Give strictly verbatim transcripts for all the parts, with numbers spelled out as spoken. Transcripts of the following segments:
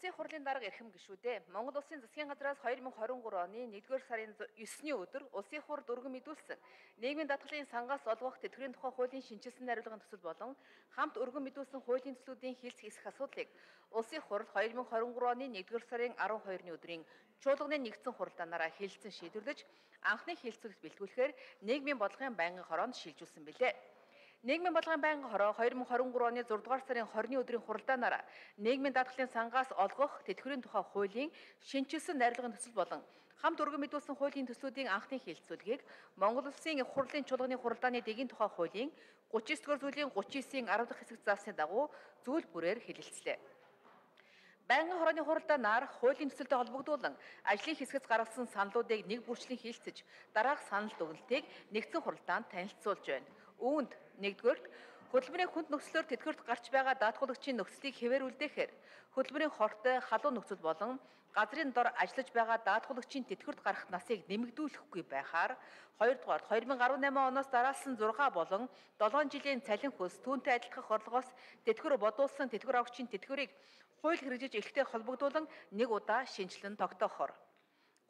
Улсын хурлын дарга эрхэм гишүүдээ Монгол Улсын засгийн газраас хоёр мың хорин гурав оны нэгдүгээр сарын ёсны өдөр Улсын хурд өргөн мэдүүлсэн нийгмийн даатгалын сангаас олгох тэтгэврийн тухай хуулийн шинжилсэн найруулгын төсөл болон хамт өргөн мэдүүлсэн хуулийн төслүүдийн хэлцэх эсэх асуудлыг Улсын хурл хоёр мың хорин гурав оны нэгдүгээр сарын арав хоёрны өдрийн чуулганы нэгдсэн хуралдаанаараа хэлэлцэн шийдвэрлэж анхны хэлэлцүүлэгт бэлтгүүлэхээр нийгмийн бодлогын байнгын хороонд шилжүүлсэн билээ. Нийгмийн бодлогын байнгын хороо хоёр мың хорин гурав оны зургаадугаар сарын хорины өдрийн хуралдаанаараа нийгмийн даатгалын сангаас олгох тэтгэврийн тухай хуулийн шинжилсэн найруулгын төсөл болон хамт өргөн мэдүүлсэн хуулийн төслүүдийн анхны хэлэлцүүлгийг Монгол Улсын их хурлын чуулганы хуралдааны дэгийн тухай хуулийн гучин девять дугаар зүйлийн гучин девятийн арав дахь хэсэг заасны дагуу зүйл бүрээр хэлэлцлээ. Байнгын хорооны хуралдаанаар хуулийн төсөлтэй холбогдуулан ажлын хэсгэс гаргасан саналуудыг нэг бүрчлэн хэлэлцэж дараах санал дүгнэлтийг нэгдсэн хуралдаанд танилцуулж байна. Үүнд нэгдүгээрт хөдөлмөрийн хүнд нөхцлөөр тэтгэврт гарч байгаа даатгуулагчийн нөхцөлийг хэвээрүүлдэхээр хөдөлмөрийн хортой халуун нөхцөл болон газрын дор ажиллаж байгаа даатгуулагчийн тэтгэврт гарах насыг нэмэгдүүлэхгүй байхаар хоёрдугаарт хоёр мың арван наймын оноос дараалсан зураг болон долоон жилийн цалин хөлс түүнтэй адилдах орлогоос тэтгэвэр бодуулсан тэтгэвэр авагчийн тэтгэврийг хууль хэрэгжиж эхлэхтэй холбогдуулан нэг удаа шинжилэн тогтоохоор.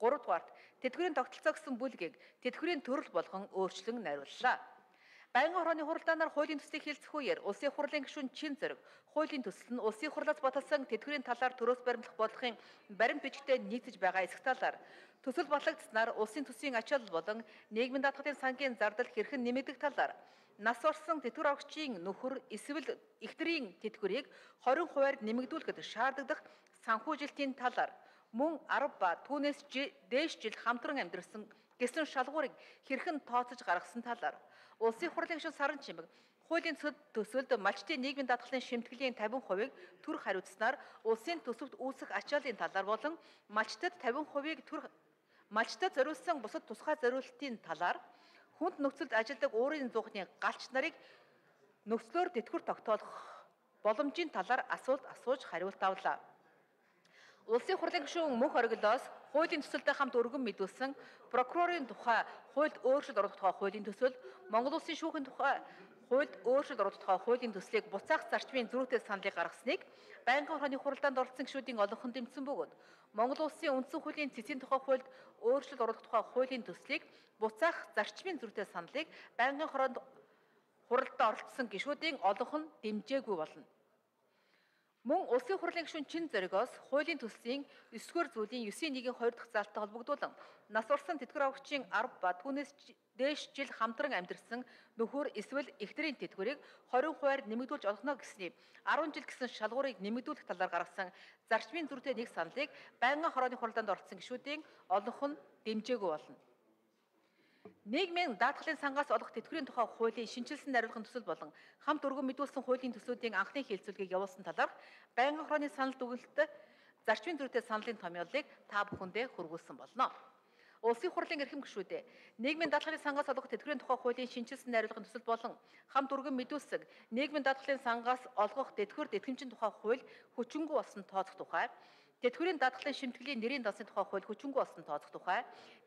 гуравдугаарт тэтгэврийн тогтолцоо гэсэн бүлгийг тэтгэврийн төрөл болгон өөрчлөн найрууллаа. Байнгын хорооны хуралдаанаар хуулийн төслийг хэлцэх үеэр Улсын хурлын гишүүн чин зэрэг хуулийн төсөл нь Улсын хурлаас баталсан тэтгэврийн талаар төрөөс баримтлах бодлогын баримт бичгтээ нийцэж байгаа эсэх талаар төсөл батлагдсанаар улсын төсвийн ачаалал болон нийгмийн даатгалын сангийн зардал хэрхэн нэмэгдэх талаар нас орсон тэтгэвэр авагчийн нөхөр эсвэл эхнэрийн тэтгэврийг хорин хувиар нэмэгдүүлэхэд шаардлагадах санхүүжилтийн талаар мөн арав ба түүнээс дээш жил хамтран амьдарсан гэсэн шалгуурыг хэрхэн тооцож гаргасан талаар Улсын хурлын гишүүн Саран Чимэг хуулийн төсөлд малчтын нийгмийн даатгалын шимтгэлийн тавин хувийг төр хариуцснаар улсын төсөвт үүсэх ачааллын талаар болон малчтад тавин хувийг төр малчтад зориулсан бусад тусгай зориултын талаар хүнд нөхцөлд ажилладаг уурын зуухны галч нарыг нөхцлөөр тэтгэвэр тогтоох боломжийн талаар асуулт асууж хариулт авлаа. Улсын хурлын гишүүн мөнх ориглоос хуулийн төсөлтэй хамт өргөн мэдүүлсэн прокурорын тухай хуульд өөрчлөлт оруулах тухай хуулийн төсөл, Монгол Улсын шүүхийн тухай хуульд өөрчлөлт оруулах тухай хуулийн төслийг буцаах зарчмын зөрүүтэй саналыг гаргасныг байнгын хорооны хуралдаанд оролцсон гишүүдийн олонхон дэмжсэн бөгөөд Монгол Улсын үндсэн хуулийн цэцгийн тухай хуульд өөрчлөлт оруулах тухай хуулийн төслийг буцаах зарчмын зөрүүтэй саналыг байнгын хороонд хуралдаа оролцсон гишүүдийн олонхон дэмжээгүй болно. Мөн Улсын хурлын гишүүн чин зоригоос хуулийн төслийн девять дугаар зүйлийн девятийн нэгэн хоёр дахь заалттай холбогдуулан нас орсон тэтгэвэр авагчийн арав ба түүнээс дээш жил хамтран амьдарсан нөхөр эсвэл эхнэрийн тэтгэврийг хорин хувиар нэмэгдүүлж олгоно гэсний арав жил гэсэн шалгуурыг нэмэгдүүлэх талаар гаргасан зарчмын зөрүүтэй нэг саналыг байнгын хорооны хуралдаанд оролцсон гишүүдийн олонх нь дэмжээгүй болно. Нийгмийн даатгалын сангаас олох тэтгэврийн тухай хуулийн шинжилсэн найруулгын төсөл болон хамт өргөн мэдүүлсэн хуулийн төслүүдийн анхны хэлэлцүүлгийг явуулсан талаар байнгын хорооны санал дүгнэлтэд зарчмын зөрүүтэй саналын томьёолыг та бүхэндээ хүргүүлсэн болно. Улсын хурлын эрхэм гишүүдээ нийгмийн даатгалын сангаас олох тэтгэврийн тухай хуулийн шинжилсэн найруулгын төсөл болон хамт өргөн мэдүүлсэн нийгмийн даатгалын сангаас олгох тэтгэвэр тэтгэмжийн тухай хууль хүчингүй болсон тооцох тухай, тэтгэврийн даатгалын шимтгэлийн нэрийн дансны тухай хууль хүчингүй болсон тооцох тухай,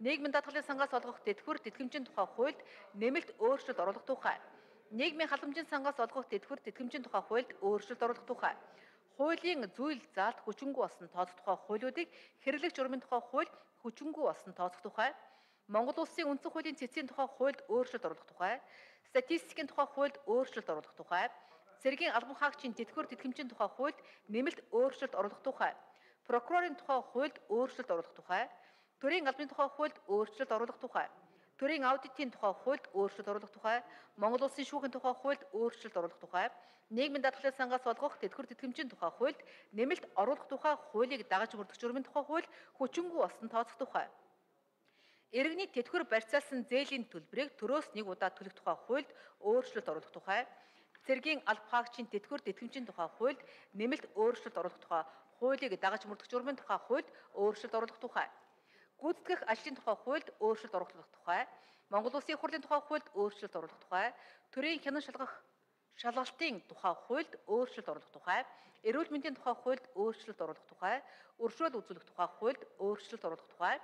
нийгмийн даатгалын сангаас олгох тэтгэвэр тэтгэмжийн тухай хуульд нэмэлт өөрчлөлт оруулах тухай, нийгмийн халамжийн сангаас олгох тэтгэвэр тэтгэмжийн тухай хуульд өөрчлөлт оруулах тухай, хуулийн зүйл заалт хүчингүй болсон тооцох тухай хуулиудыг хэрэглэх журмын тухай хууль хүчингүй болсон тооцох тухай, Монгол Улсын үндсэн хуулийн цэцгийн тухай хуульд өөрчлөлт оруулах тухай, статистикийн тухай хуульд өөрчлөлт оруулах тухай, цэргийн албан хаагчийн тэтгэвэр тэтгэмжийн тухай хуульд нэмэлт өөрчлөлт оруулах тухай, прокурорын тухай хуульд өөрчлөлт оруулах тухай, төрийн албаны тухай хуульд өөрчлөлт оруулах тухай, төрийн аудитын тухай хуульд өөрчлөлт оруулах тухай, Монгол Улсын шүүхийн тухай хуульд өөрчлөлт оруулах тухай, нийгмийн даатгалын сангаас олгох тэтгэвэр тэтгэмжийн тухай хуульд нэмэлт оруулах тухай хуулийг дагаж мөрдөх журмын тухай хууль хүчингүй болсон тооцох тухай, иргэний тэтгэвэр барьцаалсан зээлийн төлбөрийг төрөөс нэг удаа төлөх тухай хуульд өөрчлөлт оруулах тухай, цэргийн албан хаагчийн тэтгэвэр тэтгэмжийн тухай хуульд нэмэлт өөрчлөлт оруулах тухай хуулийг дагаж мөрдөх журмын тухай хуульд өөрчлөлт оруулах тухай, гүйцэтгэх ажлын тухай хуульд өөрчлөлт оруулах тухай, Монгол Улсын хурлын тухай хуульд өөрчлөлт оруулах тухай, төрийн хянан шалгах шалгалтын тухай хуульд өөрчлөлт оруулах тухай, эрүүл мэндийн тухай хуульд өөрчлөлт оруулах тухай, өршөөл үзүүлэх тухай хуульд өөрчлөлт оруулах тухай,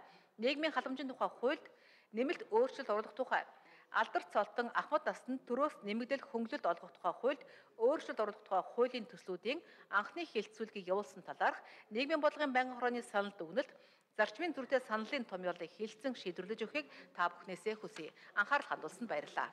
нийгмийн халамжийн тухай хуульд нэмэлт өөрчлөлт оруулах тухай, алдар цолтон ахмад насанд төрөөс нэмэгдэл хөнгөлөлт олгох тухай хуульд өөрчлөлт оруулах тухай хуулийн төслүүдийн анхны хэлэлцүүлгийг явуулсан талаарх нийгмийн бодлогын байнгын хорооны санал дүгнэлт зарчмын зүрхтэй саналын томьёолыг хэлэлцэн шийдвэрлэж өгөхийг та бүхнээсээ хүсье. Анхаарал хандуулсанд баярлалаа.